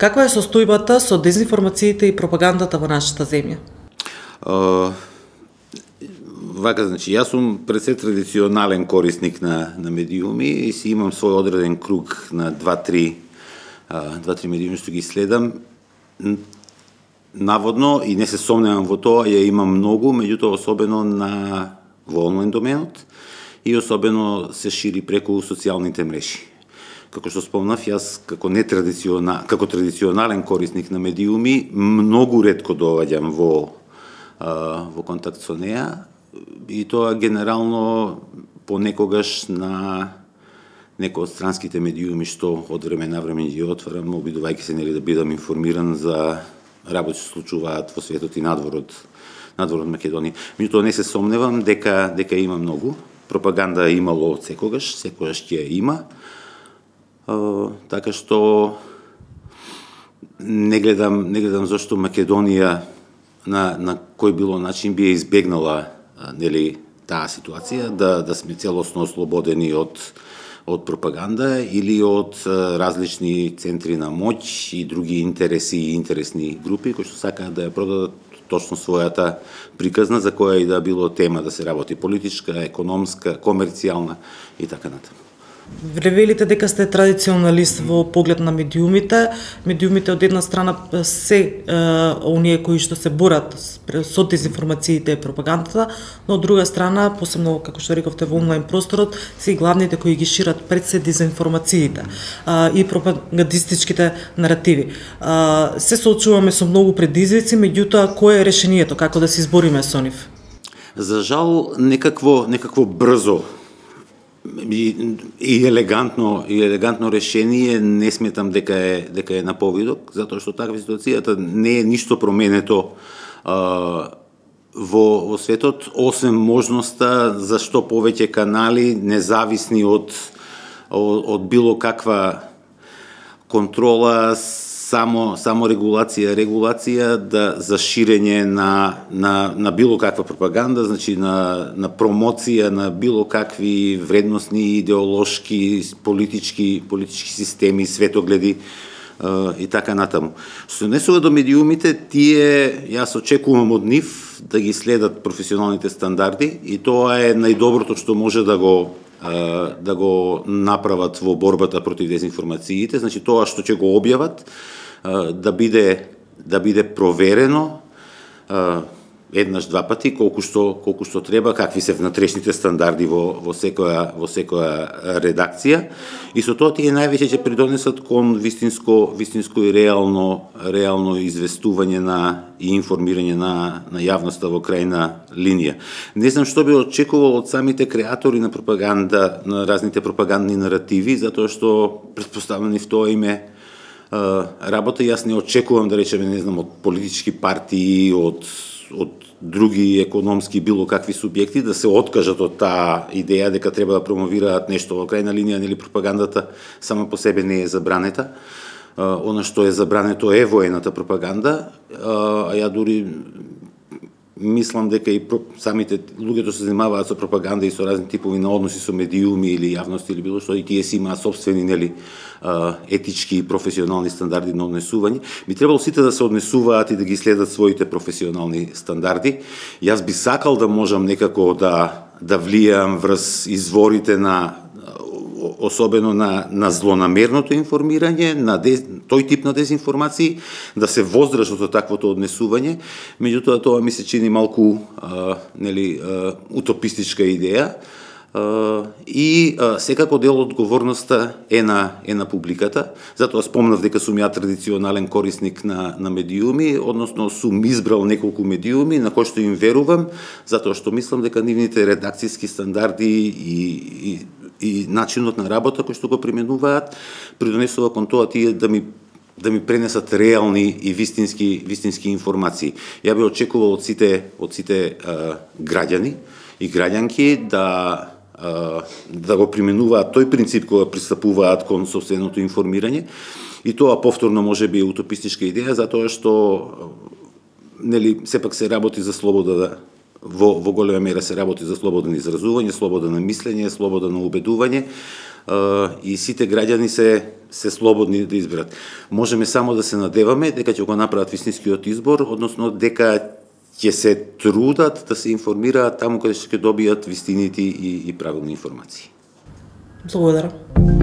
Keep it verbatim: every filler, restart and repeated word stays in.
Каква е состојбата со дезинформациите и пропагандата во нашата земја? Uh, вака, значи, јас сум пред се традиционален корисник на, на медиуми и си имам свој одреден круг на два-три uh, два-три медиуми што ги следам. Наводно, и не се сомневам во тоа, ја имам многу, меѓутоа особено на во онлайн доменот и особено се шири преку социјалните мрежи. Како што спомнав, јас како нетрадиционален, како традиционален корисник на медиуми, многу ретко доаѓам во во контакт со неа и тоа генерално понекогаш на некои од странските медиуми што од време на време ги отварам, обидувајќи се нели да бидам информиран за работи што случуваат во светот и надвор од надвор од Македонија. Меѓутоа не се сомневам дека дека има многу. Пропаганда имало од секогаш, секогаш ќе има. Uh, така што не гледам не гледам зашто Македонија на на кој било начин би избегнала нели таа ситуација да да сме целосно ослободени од од пропаганда или од различни центри на моќ и други интереси и интересни групи кои што сакаат да ја продадат точно својата приказна за која и да било тема да се работи политичка, економска, комерцијална и така натаму. Велите дека сте традиционалист во поглед на медиумите. Медиумите од една страна се е, оние кои што се борат со дезинформациите и пропагандата, но од друга страна, посебно како што рековте во онлайн просторот, се и главните кои ги шират пред се дезинформациите е, и пропагандистичките наративи. Е, се соочуваме со многу предизвици, меѓутоа кое е решението, како да се избориме со нив? За жал некакво некакво брзо И, и елегантно и елегантно решение не сметам дека е дека е на повидок, затоа што таква ситуацијата не е ништо променето а, во во светот, освен можноста за што повеќе канали независни од од, од било каква контрола, само само регулација, регулација да за ширење на на на било каква пропаганда, значи на на промоција на било какви вредносни, идеолошки, политички политички системи, светогледи и така натаму. Што се однесува до медиумите, тие јас очекувам од нив да ги следат професионалните стандарди и тоа е најдоброто што може да го да го направат во борбата против дезинформациите, значи тоа што ќе го објават да биде да биде проверено еднаш два пати колку што колку што треба, какви се внатрешните стандарди во во секоја во секоја редакција и со тоа тие највеќе ќе придонесат кон вистинско вистинско и реално реално известување на и информирање на на јавноста во крајна линија. Не знам што би очекувал од самите креатори на пропаганда, на разните пропагандни наративи, затоа што претпоставувам и в тоа име работа. Јас не очекувам да речеме, не знам, од политички партии, од од други економски било какви субјекти да се откажат од таа идеја дека треба да промовираат нешто во крајна линија, нели пропагандата сама по себе не е забранета. Она што е забрането е воената пропаганда, а ја дури мислам дека и самите луѓето се занимаваат со пропаганда и со разни типови на односи со медиуми или јавност или било што, и тие си имаат сопствени нели етички и професионални стандарди на однесување. Би требало сите да се однесуваат и да ги следат своите професионални стандарди. Јас би сакал да можам некако да да влијам врз изворите на особено на на злонамерното информирање, на дез, тој тип на дезинформации, да се воздржат од таквото однесување, меѓутоа тоа ми се чини малку а, нели а, утопистичка идеја. Uh, и uh, секако дел од одговорноста е на е на публиката. Затоа спомнав дека сум ја традиционален корисник на на медиуми, односно сум избрал неколку медиуми на кои што им верувам, затоа што мислам дека нивните редакциски стандарди и и и начинот на работа кој што го применуваат придонесува кон тоа тие да ми да ми пренесат реални и вистински вистински информации. Ја би очекувал од сите од сите uh, граѓани и граѓанки да да го применуваат тој принцип кога пристапуваат кон сопственото информирање, и тоа повторно може би е утопистичка идеја, затоа што нели сепак се работи за слобода да во во голема мера се работи за слобода на изразување, слобода на мислење, слобода на убедување, и сите граѓани се се слободни да изберат. Можеме само да се надеваме дека ќе го направат вистинскиот избор, односно дека ќе се трудат да се информираат таму каде ќе добијат вистините и, и правилни информации. Благодарам.